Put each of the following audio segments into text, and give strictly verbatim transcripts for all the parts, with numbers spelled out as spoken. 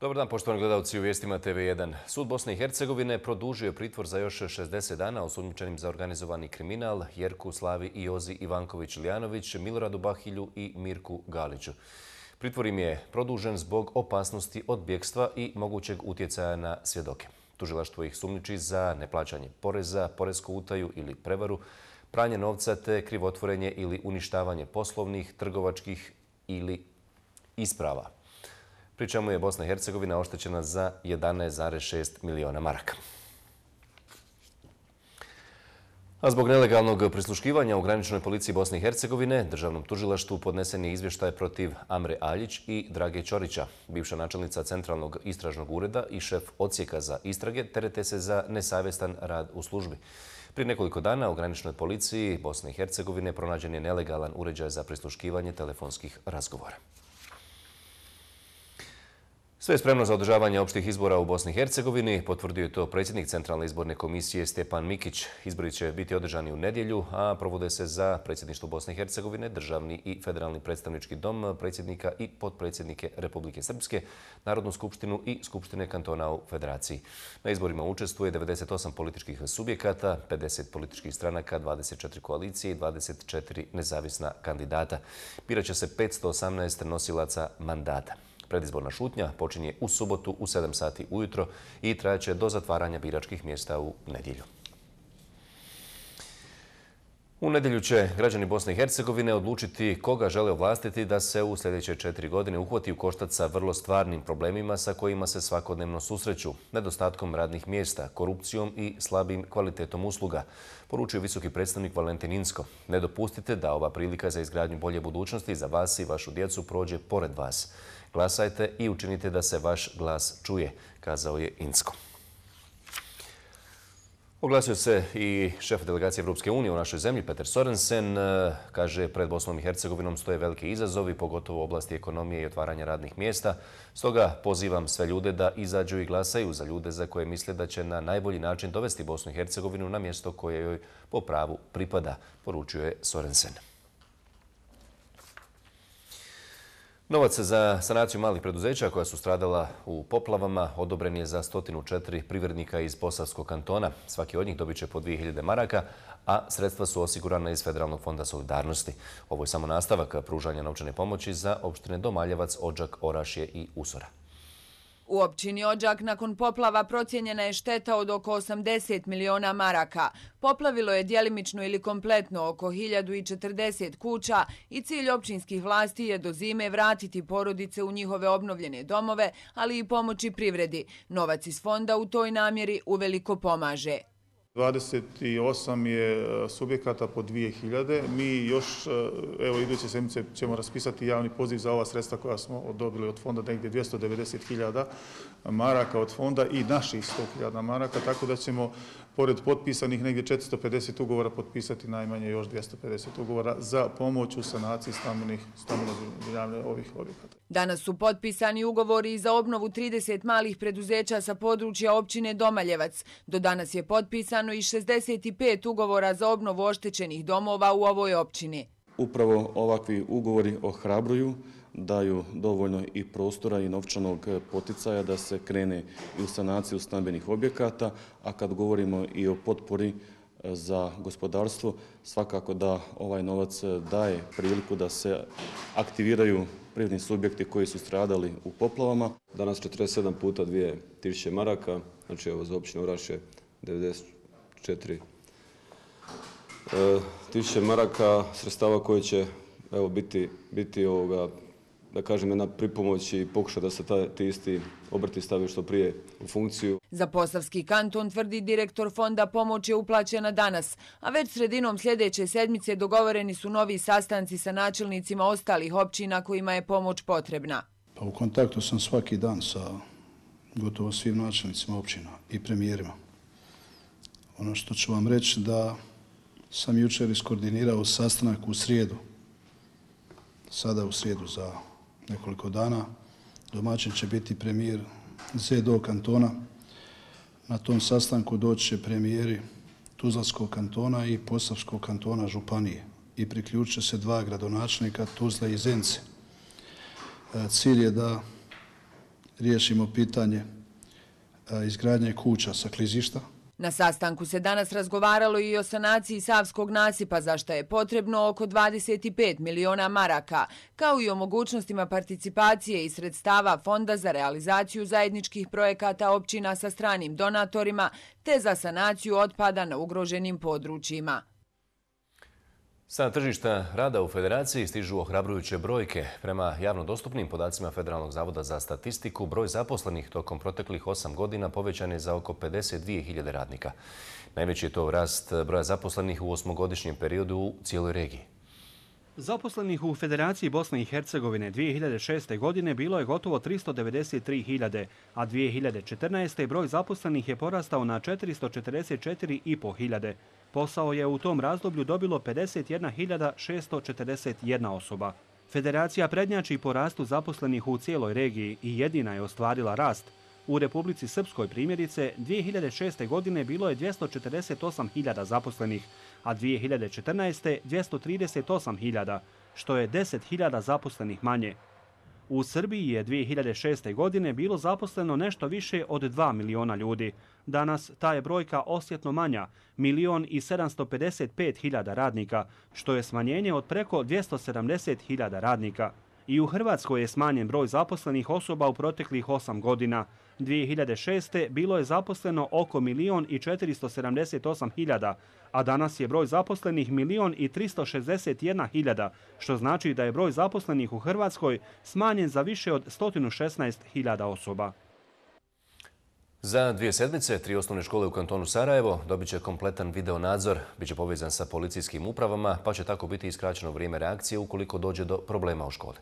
Dobar dan, poštovani gledalci u vijestima T V jedan. Sud Bosne i Hercegovine produžio je pritvor za još šezdeset dana osumnjičenim za organizovani kriminal Jerku, Slavi i Jozi Ivanković-Lijanović, Miloradu Bahilju i Mirku Galiću. Pritvor im je produžen zbog opasnosti od bjegstva i mogućeg utjecaja na svjedoke. Tužilaštvo ih sumnjiči za neplaćanje poreza, poresku utaju ili prevaru, pranje novca te krivotvorenje ili uništavanje poslovnih, trgovačkih ili isprava. Pri čemu je Bosna i Hercegovina oštećena za jedanaest zarez šest miliona maraka. A zbog nelegalnog prisluškivanja u graničnoj policiji Bosne i Hercegovine, državnom tužilaštvu podnesen je izvještaj protiv Amre Aljić i Drage Ćorića. Bivša načelnica Centralnog istražnog ureda i šef odsjeka za istrage terete se za nesavjestan rad u službi. Prije nekoliko dana u graničnoj policiji Bosne i Hercegovine pronađen je nelegalan uređaj za prisluškivanje telefonskih razgovora. Sve je spremno za održavanje opštih izbora u Bosni i Hercegovini, potvrdio je to predsjednik Centralne izborne komisije Stjepan Mikić. Izbori će biti održani u nedjelju, a provode se za predsjedništvo Bosne i Hercegovine, državni i federalni predstavnički dom, predsjednika i potpredsjednike Republike Srpske, Narodnu skupštinu i Skupštine kantona u Federaciji. Na izborima učestvuje devedeset osam političkih subjekata, pedeset političkih stranaka, dvadeset četiri koalicije i dvadeset četiri nezavisna kandidata. Biraće se petsto osamnaest nosilaca mandata. Predizborna šutnja počinje u subotu u sedam sati ujutro i trajaće do zatvaranja biračkih mjesta u nedjelju. U nedjelju će građani Bosne i Hercegovine odlučiti koga žele ovlastiti da se u sljedeće četiri godine uhvati u koštac sa vrlo stvarnim problemima sa kojima se svakodnevno susreću, nedostatkom radnih mjesta, korupcijom i slabim kvalitetom usluga, poručio visoki predstavnik Valentin Inzko. Ne dopustite da ova prilika za izgradnju bolje budućnosti za vas i vašu djecu prođe pored vas. Glasajte i učinite da se vaš glas čuje, kazao je Inzko. Oglasio se i šef delegacije Evropske unije u našoj zemlji, Peter Sorensen. Kaže, pred Bosnom i Hercegovinom stoje veliki izazovi, pogotovo u oblasti ekonomije i otvaranja radnih mjesta. Stoga pozivam sve ljude da izađu i glasaju za ljude za koje misle da će na najbolji način dovesti Bosnu i Hercegovinu na mjesto koje joj po pravu pripada, poručio je Sorensen. Novac za sanaciju malih preduzeća koja su stradala u poplavama odobren je za sto četiri privrednika iz Posavskog kantona. Svaki od njih dobit će po dvije hiljade maraka, a sredstva su osigurana iz Federalnog fonda solidarnosti. Ovo je samo nastavak pružanja novčane pomoći za opštine Domaljevac, Odžak, Orašje i Usora. U općini Odžak nakon poplava procijenjena je šteta od oko osamdeset miliona maraka. Poplavilo je djelimično ili kompletno oko hiljadu četrdeset kuća i cilj općinskih vlasti je do zime vratiti porodice u njihove obnovljene domove, ali i pomoći privredi. Novac iz fonda u toj namjeri uveliko pomaže. dvadeset osam je subjekata po dvije hiljade. Mi još, evo, iduće sedmice ćemo raspisati javni poziv za ova sredstva koja smo odobili od fonda, negdje dvjesto devedeset hiljada maraka od fonda i naših sto hiljada maraka, tako da ćemo, pored potpisanih negdje četiristo pedeset ugovora, potpisati najmanje još dvjesto pedeset ugovora za pomoć u sanaciji stambenih zbrinjavanja ovih objekata. Danas su potpisani ugovori za obnovu trideset malih preduzeća sa područja općine Domaljevac. Do danas je potpisano i šezdeset pet ugovora za obnovu oštećenih domova u ovoj općini. Upravo ovakvi ugovori ohrabruju, daju dovoljno i prostora i novčanog poticaja da se krene i u sanaciju stambenih objekata, a kad govorimo i o potpori za gospodarstvo, svakako da ovaj novac daje priliku da se aktiviraju privredni subjekti koji su stradali u poplavama. Danas četrdeset sedam puta dvije tisuće maraka, znači ovo za općinu Orašje devedeset četiri tisuće maraka sredstava koje će, evo, biti, biti ovoga, da kažem, jedna pripomoć i pokuša da se ta, ti isti obrti stavaju što prije u funkciju. Za Posavski kanton, tvrdi direktor fonda, pomoć je uplaćena danas, a već sredinom sljedeće sedmice dogovoreni su novi sastanci sa načelnicima ostalih općina kojima je pomoć potrebna. Pa u kontaktu sam svaki dan sa gotovo svim načelnicima općina i premijerima. Ono što ću vam reći da sam jučer iskoordinirao sastanak u srijedu, sada u srijedu za nekoliko dana. Domaćin će biti premijer Z D O kantona. Na tom sastanku doći će premijeri Tuzlanskog kantona i Posavskog kantona županije i priključit će se dva gradonačelnika Tuzle i Zence. Cilj je da riješimo pitanje izgradnje kuća sa klizišta. Na sastanku se danas razgovaralo i o sanaciji Savskog nasipa, za što je potrebno oko dvadeset pet miliona maraka, kao i o mogućnostima participacije i sredstava Fonda za realizaciju zajedničkih projekata općina sa stranim donatorima, te za sanaciju otpada na ugroženim područjima. Sa tržišta rada u Federaciji stižu ohrabrujuće brojke. Prema javno dostupnim podacima Federalnog zavoda za statistiku, broj zaposlenih tokom proteklih osam godina povećan je za oko pedeset dvije hiljade radnika. Najveći je to rast broja zaposlenih u osmogodišnjem periodu u cijeloj regiji. Zaposlenih u Federaciji Bosne i Hercegovine dvije hiljade šeste. godine bilo je gotovo tristo devedeset tri hiljade, a dvije hiljade četrnaeste. broj zaposlenih je porastao na četiristo četrdeset četiri i po hiljade. Posao je u tom razdoblju dobilo pedeset jedna hiljada šesto četrdeset jedna osoba. Federacija prednjači po rastu zaposlenih u cijeloj regiji i jedina je ostvarila rast. U Republici Srpskoj primjerice dvije hiljade šeste. godine bilo je dvjesto četrdeset osam hiljada zaposlenih, a dvije hiljade četrnaeste. dvjesto trideset osam hiljada, što je deset hiljada zaposlenih manje. U Srbiji je dvije hiljade šeste. godine bilo zaposleno nešto više od dva miliona ljudi. Danas ta je brojka osjetno manja, milion i sedamsto pedeset pet hiljada radnika, što je smanjenje od preko dvjesto sedamdeset hiljada radnika. I u Hrvatskoj je smanjen broj zaposlenih osoba u proteklih osam godina. dvije hiljade šeste. bilo je zaposleno oko milion i četiristo sedamdeset osam hiljada, a danas je broj zaposlenih milion i tristo šezdeset jedna hiljada, što znači da je broj zaposlenih u Hrvatskoj smanjen za više od sto šesnaest hiljada osoba. Za dvije sedmice, tri osnovne škole u kantonu Sarajevo dobit će kompletan video nadzor, bit će povezan sa policijskim upravama, pa će tako biti iskraćeno vrijeme reakcije ukoliko dođe do problema u školi.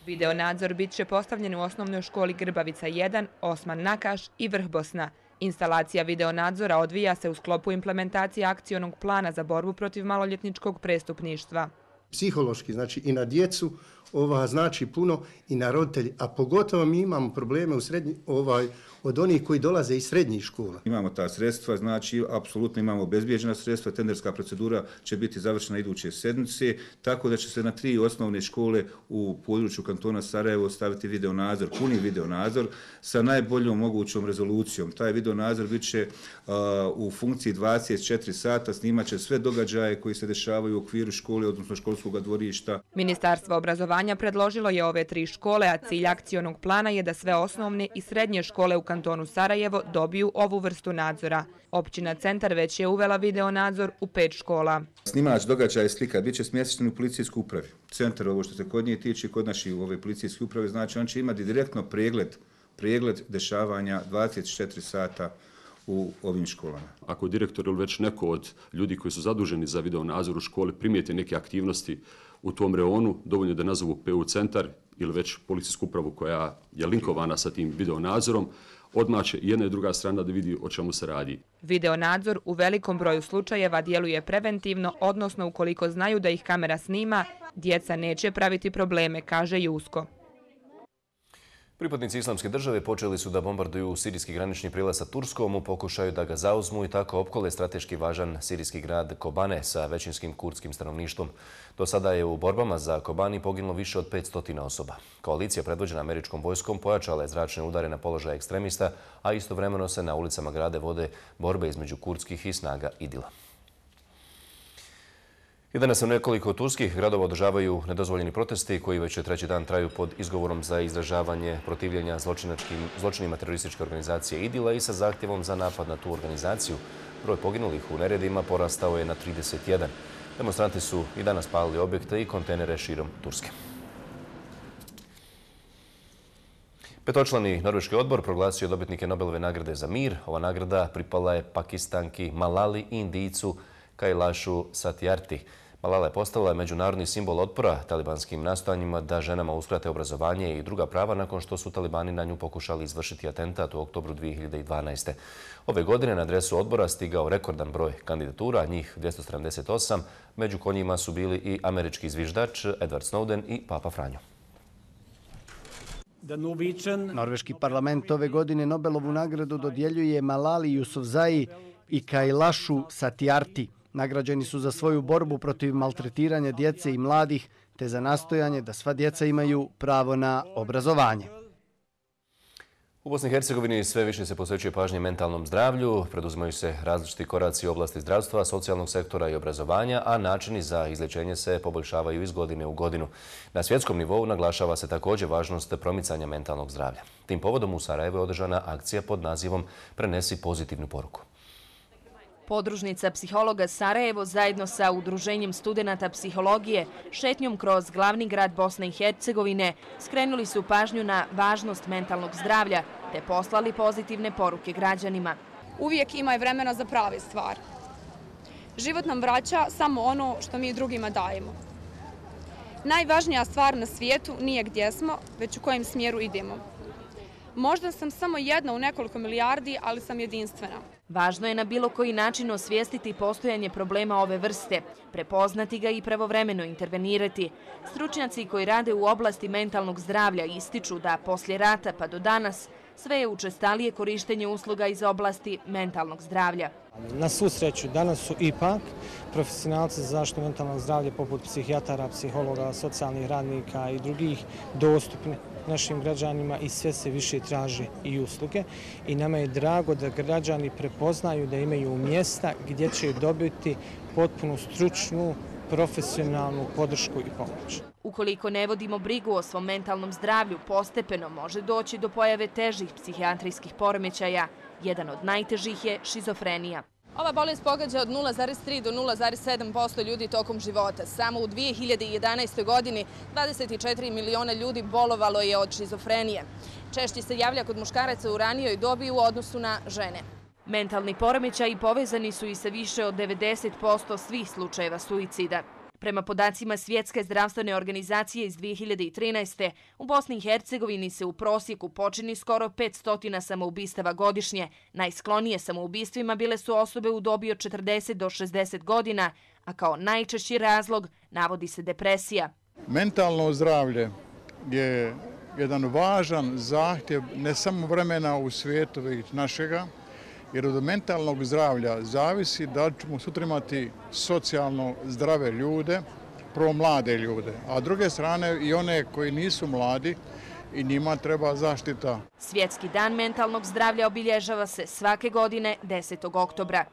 Video nadzor bit će postavljen u osnovnoj školi Grbavica jedan, Osman Nakaš i Vrh Bosna. Instalacija video nadzora odvija se u sklopu implementacije akcionog plana za borbu protiv maloljetničkog prestupništva. Psihološki, znači i na djecu, ova znači puno i na roditelji, a pogotovo mi imamo probleme u srednji, ovaj, od onih koji dolaze iz srednjih škola. Imamo ta sredstva, znači apsolutno imamo obezbijeđena sredstva, tenderska procedura će biti završena iduće sedmice, tako da će se na tri osnovne škole u području kantona Sarajevo staviti video nadzor, puni video nadzor sa najboljom mogućom rezolucijom. Taj video nadzor bit će uh, u funkciji dvadeset četiri sata, snimat će sve događaje koji se dešavaju u okviru škole, odnosno školskog dvorišta. Ministarstvo obrazovanja predložilo je ove tri škole, a cilj akcionog plana je da sve osnovne i srednje škole u kantonu Sarajevo dobiju ovu vrstu nadzora. Općina Centar već je uvela video nadzor u pet škola. Snimač događaja i slika bit će smješten u policijskoj upravi. Centar, ovo što se kod nje tiče, kod naših u ove policijske uprave, znači on će imati direktno pregled, pregled dešavanja dvadeset četiri sata u ovim školama. Ako direktor ili već neko od ljudi koji su zaduženi za video nadzor u školi primijete neke aktivnosti u tom reonu, dovoljno da nazovu P U centar ili već policijsku upravu koja je linkovana sa tim video nadzorom, odmah će jedna i druga strana da vidi o čemu se radi. Video nadzor u velikom broju slučajeva djeluje preventivno, odnosno ukoliko znaju da ih kamera snima, djeca neće praviti probleme, kaže Jusko. Pripadnici Islamske države počeli su da bombarduju sirijski granični prilaz sa Turskom u pokušaju da ga zauzmu i tako opkole strateški važan sirijski grad Kobane sa većinskim kurdskim stanovništvom. Do sada je u borbama za Kobani poginulo više od petsto osoba. Koalicija predvođena američkom vojskom pojačala je zračne udare na položaje ekstremista, a istovremeno se na ulicama grada vode borbe između kurdskih i snaga Idila. I danas se nekoliko turskih gradova održavaju nedozvoljeni protesti koji već treći dan traju pod izgovorom za izražavanje protivljenja zločinima terorističke organizacije Idila i sa zahtjevom za napad na tu organizaciju. Broj poginulih u neredima porastao je na trideset jedan. Demonstranti su i danas palili objekte i kontejnere širom Turske. Petočlani norveški odbor proglasio je dobitnike Nobelove nagrade za mir. Ova nagrada pripala je Pakistanki Malali i Indijcu Kailashu Satyarthi. Malala je postala međunarodni simbol otpora talibanskim nastojanjima da ženama uskrate obrazovanje i druga prava nakon što su talibani na nju pokušali izvršiti atentat u oktobru dvije hiljade dvanaeste. Ove godine na adresu odbora stigao rekordan broj kandidatura, njih dvjesto sedamdeset osam, među kojima su bili i američki zviždač Edward Snowden i Papa Franjo. Norveški parlament ove godine Nobelovu nagradu dodjeljuje Malali Yousafzai i Kailashu Satyarthi. Nagrađeni su za svoju borbu protiv maltretiranja djece i mladih, te za nastojanje da sva djeca imaju pravo na obrazovanje. U Bosni i Hercegovini sve više se posvećuje pažnje mentalnom zdravlju, preduzimaju se različiti koraci u oblasti zdravstva, socijalnog sektora i obrazovanja, a načini za izlječenje se poboljšavaju iz godine u godinu. Na svjetskom nivou naglašava se također važnost promicanja mentalnog zdravlja. Tim povodom u Sarajevu je održana akcija pod nazivom Prenesi pozitivnu poruku. Podružnica psihologa Sarajevo zajedno sa Udruženjem studenata psihologije šetnjom kroz glavni grad Bosne i Hercegovine skrenuli su pažnju na važnost mentalnog zdravlja te poslali pozitivne poruke građanima. Uvijek ima i vremena za prave stvari. Život nam vraća samo ono što mi drugima dajemo. Najvažnija stvar na svijetu nije gdje smo, već u kojem smjeru idemo. Možda sam samo jedna u nekoliko milijardi, ali sam jedinstvena. Važno je na bilo koji način osvijestiti postojanje problema ove vrste, prepoznati ga i pravovremeno intervenirati. Stručnjaci koji rade u oblasti mentalnog zdravlja ističu da poslije rata pa do danas sve je učestalije korištenje usluga iz oblasti mentalnog zdravlja. Na svu sreću, danas su ipak profesionalci za zaštitu mentalnog zdravlja poput psihijatara, psihologa, socijalnih radnika i drugih dostupni našim građanima i sve se više traže i usluge. I nama je drago da građani prepoznaju da imaju mjesta gdje će dobiti potpuno stručnu, profesionalnu podršku i pomoć. Ukoliko ne vodimo brigu o svom mentalnom zdravlju, postepeno može doći do pojave težih psihijatrijskih poremećaja. Jedan od najtežih je šizofrenija. Ova bolest pogađa od nula zarez tri do nula zarez sedam posto ljudi tokom života. Samo u dvije hiljade jedanaestoj. godini dvadeset četiri miliona ljudi bolovalo je od šizofrenije. Češće se javlja kod muškaraca u ranijoj dobi u odnosu na žene. Mentalni poremećaji povezani su i sa više od devedeset posto svih slučajeva suicida. Prema podacima Svjetske zdravstvene organizacije iz dvije hiljade trinaeste. u Bosni i Hercegovini se u prosjeku počini skoro petsto samoubistava godišnje. Najsklonije samoubistvima bile su osobe u dobi od četrdeset do šezdeset godina, a kao najčešći razlog navodi se depresija. Mentalno zdravlje je jedan važan zahtjev ne samo vremena u svijetu već našega, jer od mentalnog zdravlja zavisi da ćemo sutra imati socijalno zdrave ljude, prvo mlade ljude, a s druge strane i one koji nisu mladi i njima treba zaštita. Svjetski dan mentalnog zdravlja obilježava se svake godine desetog oktobra.